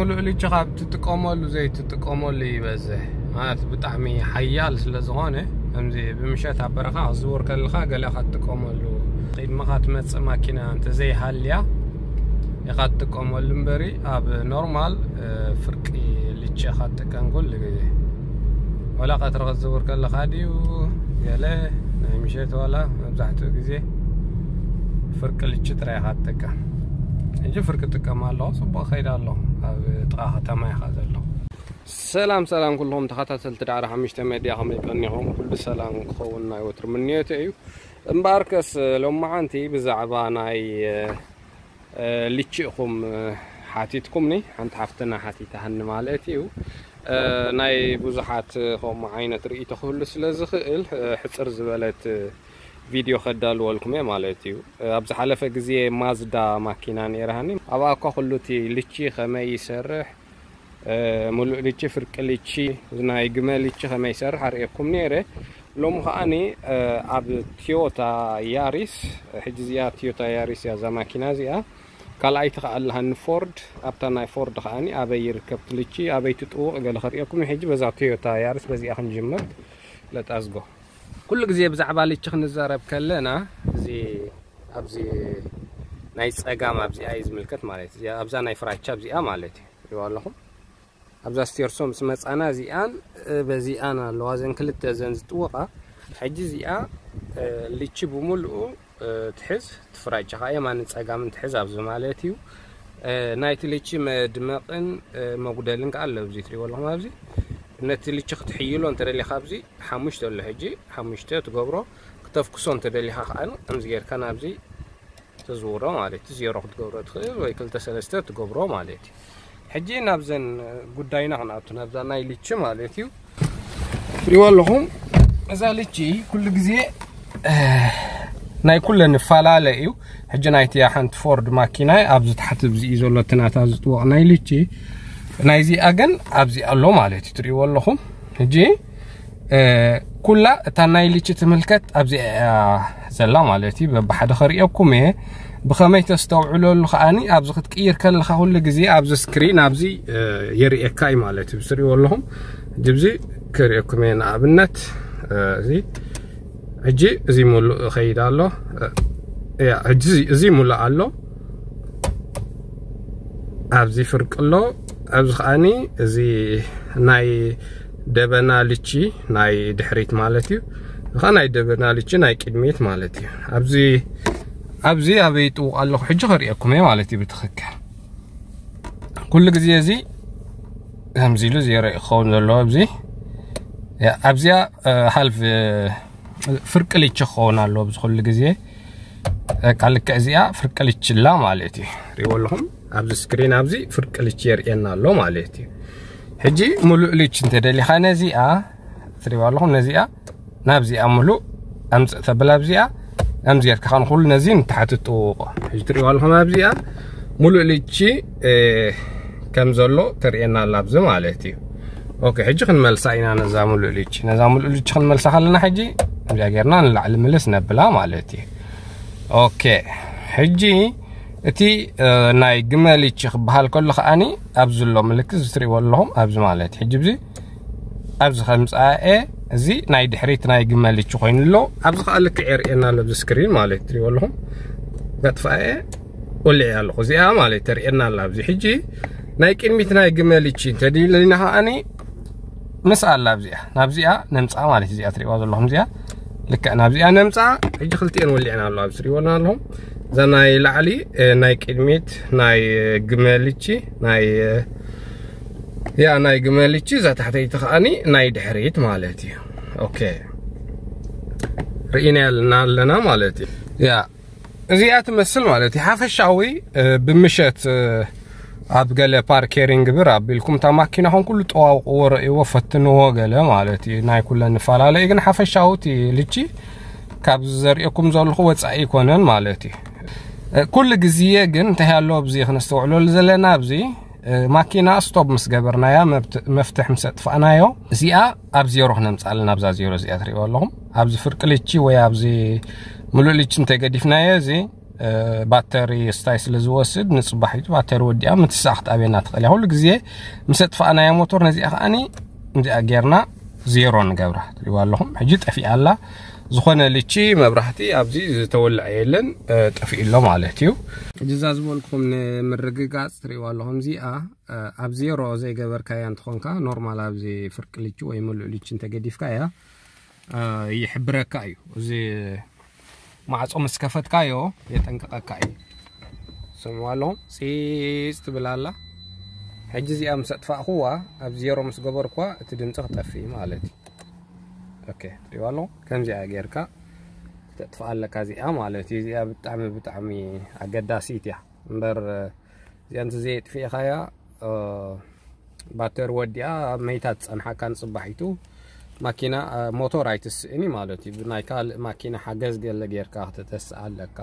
ሙሉእ ልቺ ካብ ትጥቀመሉ ዘይትጥቀመሉ ይበዝሕ። ማለት ብጣዕሚ ሓያል ስለ ዝኾነ፣ ከምዚ ብምሸት ኣብ በረኻ ክትዝውር ከለኻ ገለ ካብ ትጥቀመሉ፣ ቅድመኻ ትመጽእ ማኪና እንተዘይሃልያ ኢኻ ትጥቀመሉ እምበሪ፣ ኣብ ኖርማል፣ እ፣ ፍርቂ ልቺ ኢኻ ትጥቀም ኩሉ ግዜ። ወላ ቀትሪ ክትዝውር ከለኻ ድዩ ገለ ናይ ምሸት፣ ዋላ መብዛሕትኡ ግዜ ፍርቂ ልቺ ጥራይ ኢኻ ትጥቀም። ሕጂ ፍርቂ ጥቀም ኣለኹ፣ ጽቡቕ ከይድ ኣለኹ። ኣብ ጥቓ ከተማ ኢኻ ዘለኹ። ሰላም ሰላም ኩልኹም ተኸታተልቲ ዳዕሮ ሓሙሽተ ሜድያ፣ ከመይ ቀኒኹም? ኩሉ ሰላም ክኸውን ናይ ወትሩ ምንዮተይ እዩ። እምበኣርከስ ሎማዓንቲ ብዛዕባ ናይ፣ እ፣ ልቺ ኢኹም፣ እ፣ ሓቲትኩምኒ፣ ሓንቲ ሓፍትና ሓቲታህኒ ማለት እዩ። እ፣ ናይ ብዙሓት ከምኡ ዓይነት ርእይቶ ክህሉ ስለ ዝኽእል፣ እ፣ ሕጽር ዝበለት ቪድዮ ከዳልወልኩም እየ ማለት እዩ። እ፣ ኣብ ዝሓለፈ ግዜ ማዝዳ ማኪና ነይራሃኒ፣ ኣብኣ እኳ ኩሉ እቲ ልቺ ከመይ ይሰርሕ፣ እ፣ ሙሉእ ልቺ፣ ፍርቂ ልቺ፣ ናይ ግመ ልቺ ከመይ ይሰርሕ ኣርእየኩም ነይረ። ሎሚ ከዓኒ፣ እ፣ ኣብ ቶዮታ ያሪስ፣ ሕጂ እዚኣ ቶዮታ ያሪስ እያ እዛ ማኪና እዚኣ። ካልኣይቲ ከኣ ኣለሃኒ ፎርድ፣ ኣብታ ናይ ፎርድ ከዓኒ ኣበይ ይርከብ እቲ ልቺ፣ ኣበይ ትጥውቕ ገለ ከርእየኩም። ሕጂ በዛ ቶዮታ ያሪስ በዚኣ ክንጅምር። Let us go። ኩሉ ግዜ ብዛዕባ ልቺ ክንዛረብ ከለና፣ እዚ ኣብዚ ናይ ጸጋም ኣብዚኣ እዩ ዝምልከት ማለት እዩ። ኣብዛ ናይ ፍራቻ ኣብዚኣ ማለት እዩ። ትሪእዋ ኣለኹም። ኣብዛ ስቴርሶ ምስ መጻና እዚኣን፣ እ፣ በዚኣን ኣለዋ፣ እዘን ክልተ እዘን ዝጥወቓ። ሕጂ እዚኣ፣ እ፣ ልቺ ብምልኡ፣ እ፣ ትሕዝ፣ ትፍራጭ ኸዓ የማንን ጸጋምን ትሕዝ ኣብዚ ማለት እዩ። እ፣ ናይቲ ልቺ መድመቕን፣ እ፣ መጉደልን ከኣ ኣሎ። ኣብዚ ትሪእዎ ኣለኹም፣ ኣብዚ ነቲ ልቺ ክትሕይሎ እንተ ደሊኻ፣ ኣብዚ ሓሙሽተ ኣሎ። ሕጂ ሓሙሽተ ትገብሮ፣ ክተፍክሶ እንተ ደሊኻ ከኣ ከምዚ ጌርካ ናብዚ ትዝውሮ ማለት እዩ። ዜሮ ክትገብሮ ትኽእል ወይ ክልተ ሰለስተ ትገብሮ ማለት እዩ። ሕጂ ናብዘን ጉዳይና ክንኣቱ፣ ናብዛ ናይ ልቺ ማለት እዩ። ትሪእዎ ኣለኹም፣ እዛ ልቺ ኩሉ ግዜ፣ እ፣ ናይ ኩለን ይፈላለ እዩ። ሕጂ ናይቲያ ሓንቲ ፎርድ ማኪና ኣብዚ ታሕቲ ኣብዚ እዩ ዘሎ፣ እቲ ናታ ዝጥወቕ ናይ ልቺ። ናይዚኣ ግን ኣብዚ ኣሎ ማለት እዩ። ትሪእዎ ኣለኹም። ሕጂ፣ እ፣ ኩላ እታ ናይ ልቺ ትምልከት ኣብዚ እያ ዘላ ማለት እዩ። በብሓደ ከርእየኩም እየ። ብኸመይ ተስተውዕለሉ ከኣኒ፣ ኣብዚ ክትቅይር ከለኻ ኩሉ ግዜ ኣብዚ ስክሪን ኣብዚ፣ እ፣ የርእየካ እዩ ማለት እዩ። ትሪእዎ ኣለኹም። ሕጂ ኣብዚ ከርእየኩም እየ። ንኣብነት፣ እ፣ እዚ ሕጂ እዚ ሙሉእ ይኸይድ ኣሎ። እ፣ ያ፣ ሕጂ እዚ፣ እዚ ሙሉእ ኣሎ። ኣብዚ ፍርቂ ኣሎ። ኣብዚ ከኣኒ እዚ ናይ ደበና ልቺ ናይ ድሕሪት ማለት እዩ። እዚ ከኣ ናይ ደበና ልቺ ናይ ቅድሚት ማለት እዩ። ኣብዚ፣ ኣብዚ ኣበይ ይጥውቕ ኣለኹ ሕጂ ከርእየኩም እየ ማለት እዩ ብትኽክል። ኩሉ ግዜ እዚ ከምዚ ኢሉ ዜሮ እዩ ክኸውን ዘለዎ ኣብዚ። ያ፣ ኣብዚኣ፣ እ፣ ሃልፍ፣ እ፣ ፍርቂ ልቺ ክኸውን ኣለዎ ኣብዚ ኩሉ ግዜ። በቃ ልክዕ እዚኣ ፍርቂ ልቺ ኣላ ማለት እዩ። ሪእዎ ኣለኹም፣ ኣብዚ ስክሪን ኣብዚ ፍርቂ ልቺ የርእየና ኣሎ ማለት እዩ። ሕጂ ሙሉእ ልቺ እንተ ደሊኻ ነዚኣ፣ ትሪእዋ ኣለኹም፣ ነዚኣ ናብዚኣ ሙሉእ ኣምጽእ ተብል፣ ኣብዚኣ ኣምዚ ጌርካ ከኣ ንኹሉ ነዚ ንታሕቲ ጥውቆ። ሕጂ ትሪእዋ ኣለኹም፣ ኣብዚኣ ሙሉእ ልቺ፣ እ፣ ከም ዘሎ ተርእየና ኣላ ኣብዚ ማለት እዩ። ኦኬ፣ ሕጂ ክንመልሳ ኢና ነዛ ሙሉእ ልቺ። ነዛ ሙሉእ ልቺ ክንመልሳ ከለና ሕጂ እዚኣ ጌርና ንላዕሊ ምልስ ነብላ ማለት እዩ። ኦኬ፣ ሕጂ እቲ፣ እ፣ ናይ ግመ ልቺ ክበሃል ከሎ ከኣኒ ኣብዚ ዘሎ ምልክት እዚ ትሪእዎ ኣለኹም፣ ኣብዚ ማለት እዩ። ሕጂ እዚ ኣብዚ ከምጽኣኤ እዚ ናይ ድሕሪት ናይ ግመ ልቺ ኮይኑ ኣሎ። ኣብዚ ከኣ ልክዕ የርእየና ኣሎ፣ ኣብዚ ስክሪን ማለት ትሪእዎ ኣለኹም። ከጥፍኣኤ ወሊዐ ኣለኹ። እዚኣ ማለት ተርእየና ኣላ። ኣብዚ ሕጂ ናይ ቅድሚት ናይ ግመ ልቺ እንተደሊና ከኣኒ ምስ ኣላ ኣብዚኣ፣ ናብዚኣ ነምጽኣ ማለት እዚኣ ትሪእዋ ዘለኹም እዚኣ ልክዕ ናብዚኣ ነምጽኣ። ሕጂ ክልቲኤን ወሊዕና ኣሎ፣ ኣብዚ ትሪእወና ኣለኹም። እዛ ናይ ላዕሊ፣ እ፣ ናይ ቅድሚት ናይ፣ እ፣ ግመ ልቺ ናይ፣ እ፣ ያ ናይ ግመ ልቺ፣ እዛ ታሕተይቲ ከኣኒ ናይ ድሕሪት ማለት እዩ። ኦኬ፣ ርኢናልና ኣለና ማለት እዩ። ያ እዚኣ ትመስል ማለት እዩ። ሓፈሻዊ፣ እ፣ ብምሸት፣ እ፣ ኣብ ገለ ፓርኬሪንግ ብር ኣቢልኩም እታ ማኪናኹም ኩሉ ጠዋውቅዎ፣ ረእይዎ፣ ፈትንዎ ገለ ማለት እዩ። ናይ ኩለን ንፈላለ እዩ፣ ግን ሓፈሻዊ እቲ ልቺ ካብ ዘርእየኩም ዘለኹ ወጻኢ ኣይኮነን ማለት እዩ። እ፣ ኩሉ ግዜ ግን እንታይ ኣሎ ኣብዚ ክነስተውዕለሉ ዘለና፣ ኣብዚ፣ እ፣ ማኪና ስቶፕ ምስ ገበርናያ፣ መብት-፣ መፍትሕ ምስ ኣጥፋእናዮ፣ እዚኣ ኣብ ዜሮ ክነምጽኣለን፣ ኣብዛ ዜሮ እዚኣ ትርእይዋ ኣለኹም። ኣብዚ ፍርቂ ልቺ ወይ ኣብዚ ምሉእ ልቺ እንተገዲፍናዮ፣ እዚ ባተሪ ስታይ ስለ ዝወስድ ንፅባሒቱ ባተሪ ወዲኣ ምትሳእ ክትኣብየና ትኽእል እያ። ኩሉ ግዜ ምስ ኣጥፋእናያ ሞቶር ነዚኣ ከዓኒ እዚኣ ጌርና ዜሮ ንገብራ። ትሪእዋ ኣለኹም ሕጂ ጠፊኣ ኣላ። ዝኾነ ልቺ መብራህቲ ኣብዚ ዝተወልዐ የለን፣ ጠፊኡ ኣሎ ማለት እዩ። ሕጂ እዛ ዝበልኩም ንምርግጋፅ ትሪእዋ ኣለኹም እዚኣ ኣብ ዜሮ ዘይገበርካያ እንትኾንካ ኖርማል ኣብዚ ፍርቂ ልቺ ወይ ምሉእ ልቺ እንተገዲፍካያ ይሕብረካ እዩ። እዚ ማዕጾ ምስ ከፈትካዮ የጠንቅቐካ እዩ። ስምዋ ኣለኹም ፂፅ ትብል ኣላ። ሕጂ እዚኣ ምስ ኣጥፋእኩዋ ኣብ ዜሮ ምስ ገበርኩዋ እቲ ድምፂ ክጠፍእ እዩ ማለት እዩ። ኦኬ ትሪእዋ ኣለኹም ከምዚኣ ጌርካ ክተጥፍኣ ኣለካ እዚኣ ማለት እዩ። እዚኣ ብጣዕሚ ብጣዕሚ ኣገዳሲት እያ እምበር እዚኣ እንተ ዘየጥፊእኻያ ባተሪ ወዲኣ መይታ ትፀንሓካ ንፅባሒቱ ማኪና ሞቶር ኣይትስእን እዩ ማለት እዩ። ብናይ ካልእ ማኪና ሓገዝ ገለ ጌርካ ክተተስእ ኣለካ።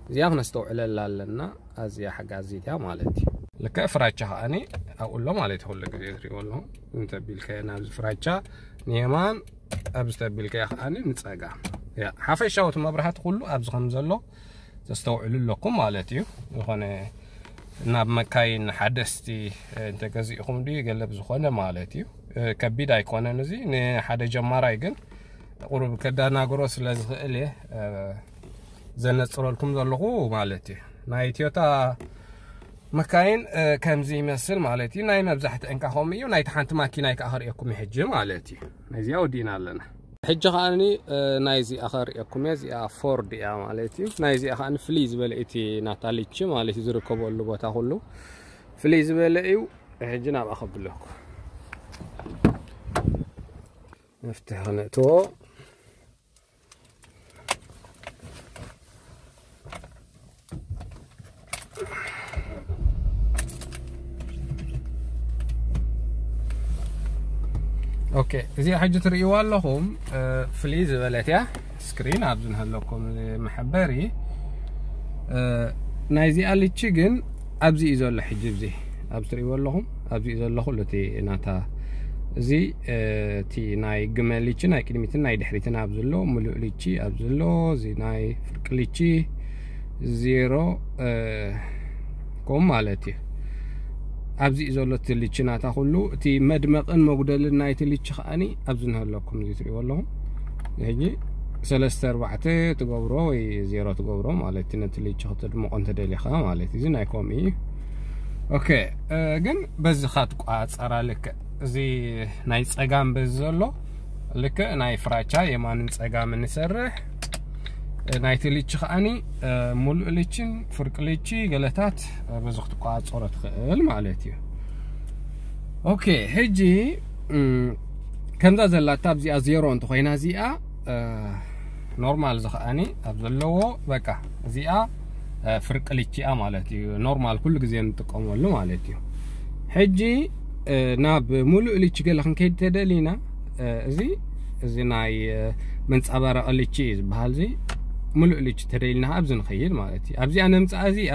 እዚኣ ክነስተውዕለላ ኣለና። ኣዝያ ሓጋዚት እያ ማለት እዩ። ልክዕ ፍራቻ ከዓኒ ኣብኡ ኣሎ ማለት እዩ። ኩሉ ግዜ ትሪእዎ ኣለኹም እንተቢልካዮ ናብዚ ፍራቻ ንየማን ኣብዚ ተቢልካዮ ከዓኒ ንፀጋም። ያ ሓፈሻዊ እቲ መብራህቲ ኩሉ ኣብዚ ከም ዘሎ ተስተውዕሉ ኣለኩም ማለት እዩ። ዝኾነ ናብ መካይን ሓደስቲ እንተገዚእኹም ድዩ ገለ ብዝኾነ ማለት እዩ። ከቢድ ኣይኮነን እዚ ንሓደ ጀማራይ ግን ቁሩብ ከዳናግሮ ስለ ዝኽእል እየ ዘነፅረልኩም ዘለኹ ማለት እዩ። ናይ ቶዮታ መካይን ከምዚ ይመስል ማለት እዩ። ናይ መብዛሕትአን ከዓ ከምኡ እዩ። ናይቲ ሓንቲ ማኪናይ ከዓ ከርእየኩም እዩ ሕጂ ማለት እዩ። ነዚኣ ወዲእና ኣለና። ሕጂ ከዓኒ ናይዚኣ ከርእየኩም እየ። እዚኣ ፎርድ እያ ማለት እዩ። ናይዚኣ ከዓኒ ፍልይ ዝበለ እቲ ናታ ልቺ ማለት እዩ ዝርከበሉ ቦታ ኩሉ ፍልይ ዝበለ እዩ። ሕጂ ናብኣ ከብለኩ መፍትሒ ክነእትዎ። ኦኬ እዚኣ ሕጂ ትርእይዋ ኣለኹም ፍልይ ዝበለት እያ። ስክሪን ኣብዚ ንሃለኩም መሐበሪ ናይዚኣ ልቺ ግን ኣብዚ እዩ ዘሎ። ሕጂ እዚ ኣብዚ ትርእይዎ ኣለኹም ኣብዚ እዩ ዘሎ ኩሉ እቲ ናታ እዚ እቲ ናይ ግመ ልቺ ናይ ቅድሚትን ናይ ድሕሪትን ኣብዚ ኣሎ ሙሉእ ልቺ ኣብዚ ኣሎ እዚ ናይ ፍርቂ ልቺ ዜሮ ከምኡ ማለት እዩ። ኣብዚ እዩ ዘሎ እቲ ልቺ ናታ ኩሉ እቲ መድመቕን መጉደልን ናይቲ ልቺ ከዓኒ ኣብዚ ንሃለኩም እዚ ትሪእዎ ኣለኹም። ሕጂ ሰለስተ ኣርባዕተ ትገብሮ ወይ ዜሮ ትገብሮ ማለት እዩ። ነቲ ልቺ ክትድምቆ እንተደሊኻ ማለት እዩ። እዚ ናይ ኮም እዩ። ኦኬ ግን በዚ ካትቋፀራ ልክዕ እዚ ናይ ፀጋም በዚ ዘሎ ልክዕ ናይ ፍራቻ የማንን ፀጋምን ንሰርሕ ናይቲ ልቺ ከዓኒ ሙሉእ ልችን ፍርቂ ልቺ ገለታት በዚ ክትቋፀሮ ትኽእል ማለት እዩ። ኦኬ ሕጂ ከምዛ ዘላታ ኣብዚኣ ዜሮ እንተኮይና እዚኣ ኖርማል ዝኸኣኒ ኣብ ዘለዎ በቃ እዚኣ ፍርቂ ልቺኣ ማለት እዩ። ኖርማል ኩሉ ግዜ እንጥቀመሉ ማለት እዩ። ሕጂ ናብ ሙሉእ ልቺ ገለ ክንከይድ ተደሊና እዚ እዚ ናይ መንፀባረቂ ልቺ እዩ ዝበሃል። እዚ ሙሉእ ልቺ ተደሊና ኣብዚ ንኸይድ ማለት እዩ። ኣብዚኣ ነምፅኣ እዚኣ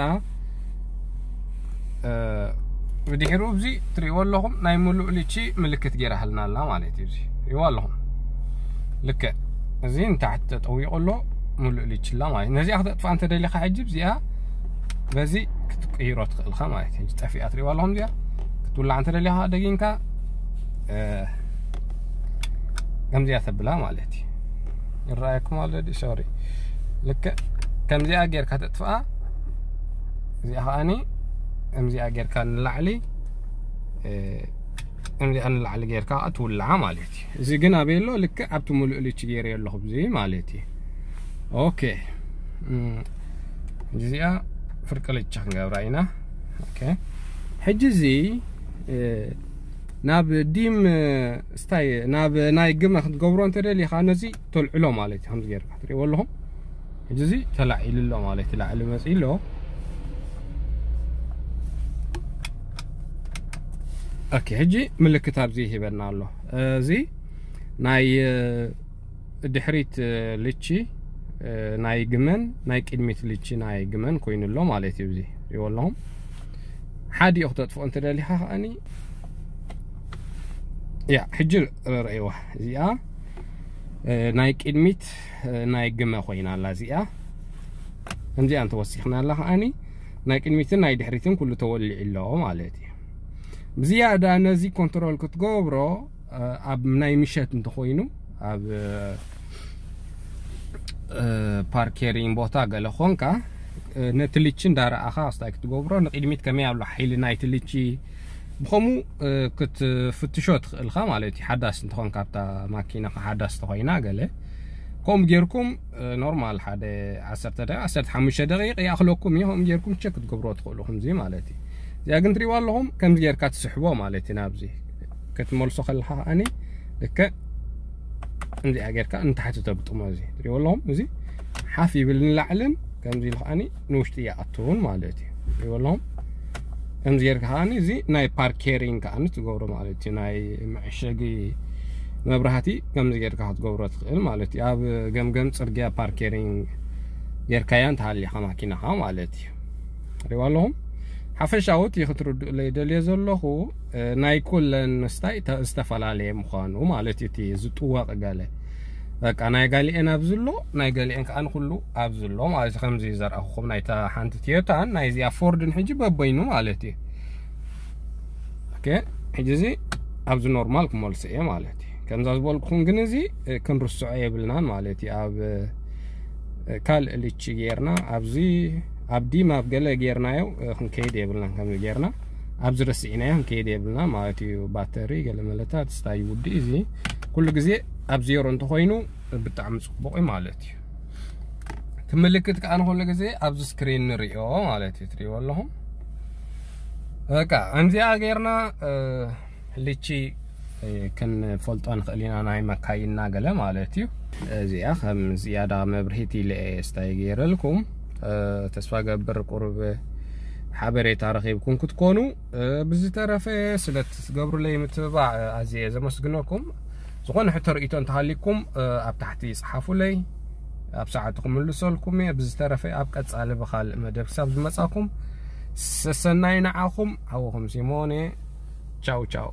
ብድሕሩ እዚ ትሪእዎ ኣለኹም ናይ ሙሉእ ልቺ ምልክት ገይራሃልና ኣላ ማለት እዩ። እዚ ሪእዎ ኣለኹም ልክዕ እዚ ንታሕቲ ተጠዊቑ ኣሎ ሙሉእ ልቺ ኣላ ማለት ነዚኣ ክተጥፋ እንተደሊኻ ሕጂ እዚኣ በዚ ክትቅይሮ ትኽእልኻ ማለት እዩ። ጠፊኣ ትሪእዋ ኣለኹም እዚኣ ክትውላዕ እንተደሊኻ ደጊምካ ከምዚኣ ተብላ ማለት እዩ። ይረኣየኩም ኣሎ ዲ ሶሪ ልክዕ ከምዚኣ ጌርካ ተጥፍኣ እዚኣ ከዓኒ ከምዚኣ ጌርካ ንላዕሊ ከምዚኣ ንላዕሊ ጌርካ ትውልዓ ማለት እዩ። እዚ ግን ኣበይ ኣሎ ልክዕ ኣብቲ ሙሉእ ልቺ ገይረ ኣለኹ እዚ ማለት እዩ። ኦኬ እዚኣ ፍርቂ ልቺ ክንገብራ ኢና። ኦኬ ሕጂ እዚ ናብ ዲም ስታይ ናብ ናይ ግመ ክትገብሮ እንተደሊኻ ነዚ ተልዕሎ ማለት እዩ። ከምዚ ጌርካ ትሪእዎ ኣለኹም ሕጂ እዚ ተላዒሉ ኣሎ ማለት እዩ። ላዕሊ መፂ ኣሎ። ኦኬ ሕጂ ምልክት ኣብዚ ይሂበና ኣሎ። እዚ ናይ ድሕሪት ልቺ ናይ ግመን ናይ ቅድሚት ልቺ ናይ ግመን ኮይኑ ኣሎ ማለት እዩ። እዚ ሪእዎ ኣለኹም ሓዲኡ ክተጥፍኦ እንተደሊኻ ከዓኒ ያ ሕጂ ረእይዋ እዚኣ ናይ ቅድሚት ናይ ግመ ኮይና ኣላ እዚኣ ከምዚኣ እንተወሲኽና ኣላ ከዓኒ ናይ ቅድሚትን ናይ ድሕሪትን ኩሉ ተወሊዑ ኣሎ ማለት እዩ። ብዝያዳ ነዚ ኮንትሮል ክትገብሮ ኣብ ናይ ምሸት እንተኾይኑ ኣብ ፓርኬሪን ቦታ ገለ ኾንካ ነቲ ልቺ እንዳረኣኻ ስታይ ክትገብሮ ንቅድሚት ከመይ ኣሎ ሓይሊ ናይቲ ልቺ ብኸምኡ ክትፍትሾ ትኽእልካ ማለት እዩ። ሓዳስ እንተኾንካ ኣብታ ማኪና ሓዳስ ተኾይና ገለ ከምኡ ጌርኩም ኖርማል ሓደ ዓሰርተ ደቂቃ ዓሰርተ ሓሙሽተ ደቂቃ ይኣኽለኩም እዩ። ከምኡ ጌርኩም ቸክ ክትገብሮ ትኽእሉ ከምዚ ማለት እዩ። እዚኣ ግን ትሪእዋ ኣለኹም ከምዚ ጌርካ ትስሕቦ ማለት እዩ። ናብዚ ክትመልሶ ከለኻ ከኣኒ ልክዕ እንዚኣ ጌርካ ንታሕቲ ተግጥሞ። እዚ ትሪእዎ ኣለኹም እዚ ሓፍ ይብል ንላዕልን ከምዚ ኢሉ ከኣኒ ንውሽጢ ይኣትውን ማለት እዩ። ትሪእዎ ኣለኹም ከምዚ ጌርካ ከኣኒ እዚ ናይ ፓርኬሪንግ ከኣኒ ትገብሮ ማለት እዩ። ናይ መዐሸጊ መብራህቲ ከምዚ ጌርካ ክትገብሮ ትኽእል ማለት እዩ። ኣብ ገምገም ጽርግያ ፓርኬሪንግ ጌርካያ እንተሃሊኻ ማኪናኻ ማለት እዩ። ሪዋ ኣለኹም ሓፈሻዊ እቲ ክትርድኡለይ ደልየ ዘለኹ ናይ ኩለን ስታይ ዝተፈላለየ ምዃኑ ማለት እዩ። እቲ ዝጥወቕ ገለ በቃ ናይ ጋሊኤን ኣብዚ ኣሎ ናይ ገሊኤን ከዓ ንኩሉ ኣብዚ ኣሎ ማለት እዩ። ከምዚ ዘርኣኹኹም ናይታ ሓንቲ ቲዮታን ናይዚኣ ፎርድን ሕጂ በበይኑ ማለት እዩ። ኦኬ ሕጂ እዚ ኣብዚ ኖርማል ክመልሶ እየ ማለት እዩ። ከምዛ ዝበልኩኹም ግን እዚ ክንርስዖ የብልናን ማለት እዩ። ኣብ ካልእ ልቺ ጌርና ኣብዚ ኣብ ዲም ኣብ ገለ ጌርናዮ ክንከይድ የብልናን። ከምዚ ጌርና ኣብዚ ረስዒናዮ ክንከይድ የብልና ማለት እዩ። ባተሪ ገለ መለታት ስታይ ውዲ እዚ ኩሉ ግዜ ኣብ ዜሮ እንተኾይኑ ብጣዕሚ ጽቡቕ እዩ ማለት እዩ። እቲ ምልክት ከዓ ንኩሉ ግዜ ኣብዚ ስክሪን ንሪኦ ማለት እዩ። ትሪእዎ ኣለኹም በቃ ከምዚኣ ጌርና ልቺ ክንፈልጦ ንኽእል ኢና ናይ መካይንና ገለ ማለት እዩ። እዚኣ ከም ዝያዳ መብርሂት ኢለ እየ ስታይ ገይረልኩም። ተስፋ ገብር ቁሩብ ሓበሬታ ረኺብኩም ክትኮኑ። ብዝተረፈ ስለ ትገብሩለይ ምትብባዕ ኣዝየ ዘመስግነኩም። ዝኾነ ሕቶ ርእቶ እንተሃሊኩም ኣብ ታሕቲ ይጽሓፉለይ፣ ኣብ ሰዓቱ ክምልሰልኩም እየ። ብዝተረፈ ኣብ ቀጻሊ ብኻልእ መደብ ክሳብ ዝመጻኩም ሰሰናይ ንዓኹም። ሓውኹም ሲሞን እየ። ቻው ቻው።